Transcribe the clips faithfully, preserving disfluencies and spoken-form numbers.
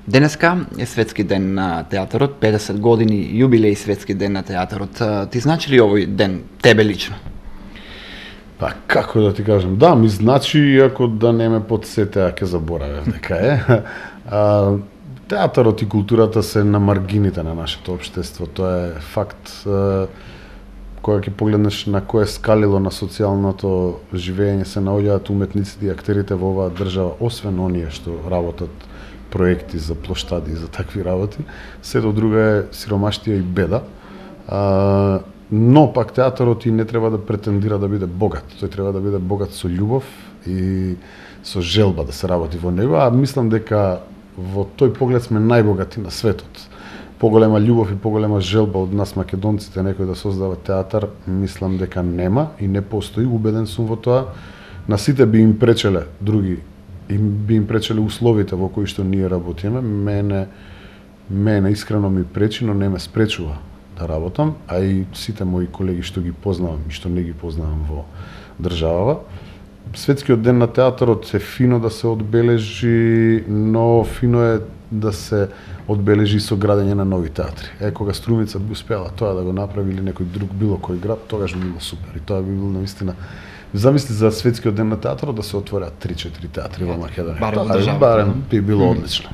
Денеска е светски ден на театарот, педесет години јубилеј светски ден на театарот. Ти значи ли овој ден тебе лично? Па како да ти кажам, да, ми значи, иако да не ме подсете, ќе заборавев дека е. А, театарот и културата се на маргините на нашето општество, тоа е факт. А, кога ќе погледнеш на кое скалило на социјалното живење се наоѓаат уметниците и актерите во оваа држава, освен оние што работат проекти за плоштади и за такви работи, сето друго е сиромаштија и беда. А, но пак театарот и не треба да претендира да биде богат. Тој треба да биде богат со љубов и со желба да се работи во него, а мислам дека во тој поглед сме најбогати на светот. Поголема љубов и поголема желба од нас македонците некој да создава театар, мислам дека нема и не постои, убеден сум во тоа. На сите би им пречеле други, и би им пречеле условите во кои што ние работиме. Мене, мене искрено ми пречи, но не ме спречува да работам, а и сите мои колеги што ги познавам и што не ги познавам во државава. Светскиот ден на театарот е фино да се одбележи, но фино е да се одбележи со градење на нови театри. Е, кога Струмица би успела тоа да го направи или некој друг било кој град, тогаш би било супер. И тоа би било навистина. Замисли за светскиот ден на театарот да се отворат три-четири театри во Македонија. Барем, тоа, барем би било одлично.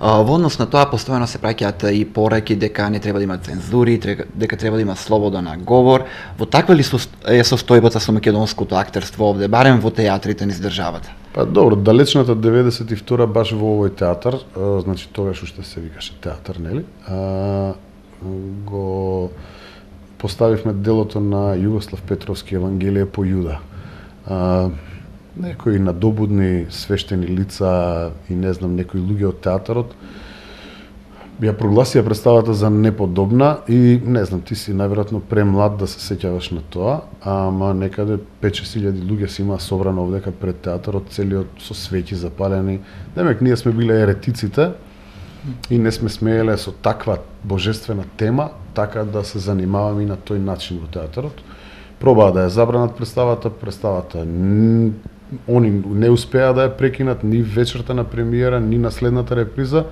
Во однос на тоа, постојано се праќаат и пораки дека не треба да има цензури, дека треба да има слобода на говор. Во таква ли е состојбата со македонското актерство овде, барем во театрите низ државата? Па добро, далечната деветдесет и втора баш во овој театар, а, значи тогаш уште се викаше театар, нели? А, го поставивме делото на Југослав Петровски Евангелие по Јуда. А, некои надобудни свештени лица и не знам некои луѓе од театарот ја прогласија представата за неподобна и не знам, ти си најверојатно премлад да се сеќаваш на тоа, ама некаде пет-шест илјади луѓе се има собрано овдека пред театарот, целиот со свеќи запалени. Демек ние сме биле еретиците и не сме смееле со таква божествена тема така да се занимаваме и на тој начин во театарот. Пробаа да ја забранат представата, представата они не успеа да ја прекинат ни вечерта на премиера, ни на следната реприза,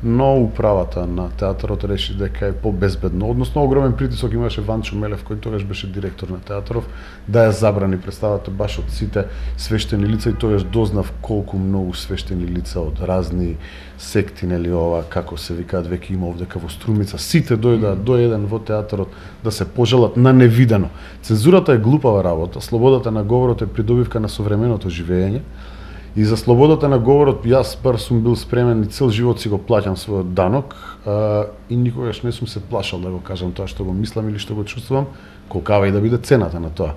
но управата на театарот реши дека е побезбедно. Односно, огромен притисок имаше Ванчо Мелев, кој тогаш беше директор на театаров, да ја забрани представата баш од сите свештени лица и тогаш дознав колку многу свештени лица од разни секти, нели ова, како се викаат, веќе има овдека во Струмица. Сите дојдоа до еден во театарот да се пожелат на невидено. Цензурата е глупава работа, слободата на говорот е придобивка на современото живење. И за слободата на говорот, јас бар сум бил спремен и цел живот си го плаќам својот данок а, и никогаш не сум се плашал да го кажам тоа што го мислам или што го чувствувам, колкава и да биде цената на тоа.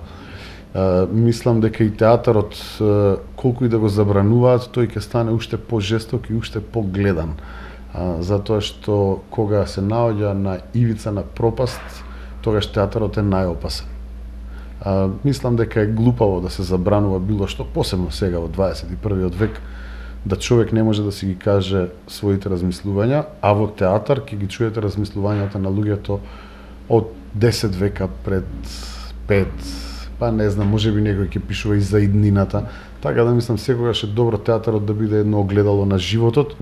А, мислам дека и театарот, а, колку и да го забрануваат, тој ќе стане уште по-жесток и уште по-гледан. А, затоа што кога се наоѓа на ивица на пропаст, тогаш театарот е најопасен. А, мислам дека е глупаво да се забранува било што, посебно сега во дваесет и првиот век, да човек не може да си ги каже своите размислувања, а во театар ќе ги чуете размислувањата на луѓето од десет века пред, пет, па не знам, можеби некој ќе пишува и за иднината. Така да мислам секогаш е добро театарот да биде едно огледало на животот,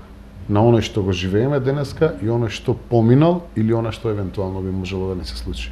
на оној што го живееме денеска и оној што поминал или оној што евентуално би можело да не се случи.